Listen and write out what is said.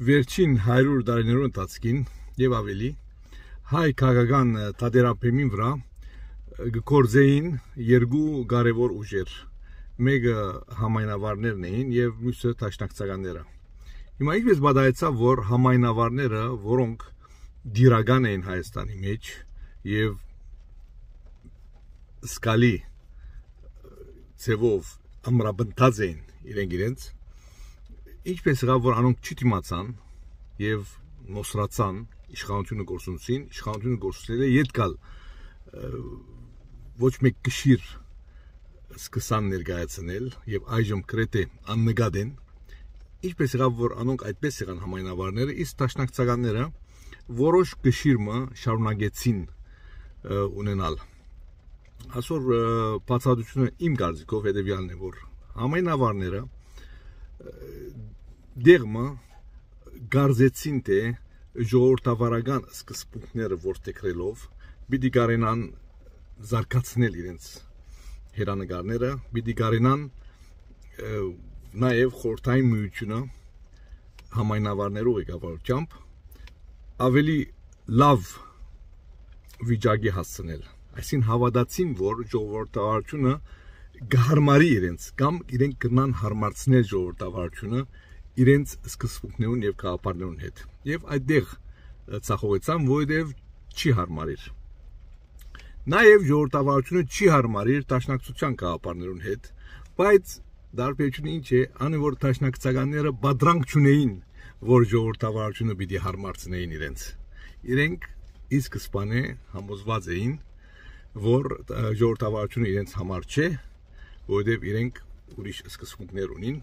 Վերջին 100 տարիներու ընթացքին եւ ավելի հայ քաղաքական թատերապեմին վրա գործեին երկու կարևոր ուժեր, մեկը համայնավարներն էին եւ մյուսը դաշնակցականները։ Հիմա ինչպես բադայեցավ, որ համայնավարները, որոնք դիրական էին Հայաստանի մեջ եւ սկալի ծևով ամրապնդած էին իրենց ինչպես եղավ, որ անոնք չդիմացան եւ նոսրացան իշխանությունը գործունեին, իշխանությունը գործունեները ետ գալ ոչ մեկ գշիր սկսան ներկայացնել եւ այժմ կրեթե աննկատ են, ինչպես եղավ, որ անոնք այդպես եղան համայնավարները, իսկ դաշնակցականները որոշ գշիրը շարունակեցին ունենալ։ Այսօր բացատրությունը իմ կարծիքով հետեւյալն է, որ համայնավարները դերմը գարձեցին թե ժողովրդավարական սկզբունքները որդեգրելով պիտի կարենան զարգացնել իրենց հերանեկարները, պիտի կարենան նաև խորհրդային միությունը համայնավարներու ղեկավարությամբ ավելի լավ վիճակի հասցնել։ Այսին հավատացին, որ ժողովրդավարությունը գահարմարի իրենց կամ իրենք կնան հարմարցնել ժողովրդավարությունը իրենց սկզբունքներուն եւ գաղափարներուն հետ եւ այդտեղ ցախողեցան, որովհետեւ չի հարմարիր։ Նաեւ ժողովրդավարությունը չի հարմարիր դաշնակցության գաղափարներուն հետ, բայց դարբերությունը ինչ է, անի որ դաշնակցականները բادرանք չունեին, որ ժողովրդավարությունը պիտի հարմարցնեին իրենց։ Իրենք ի սկզբանե համոզված էին, որ ժողովրդավարությունը իրենց համար չէ, որովհետև իրենք ուրիշ սկզբունքներ ունին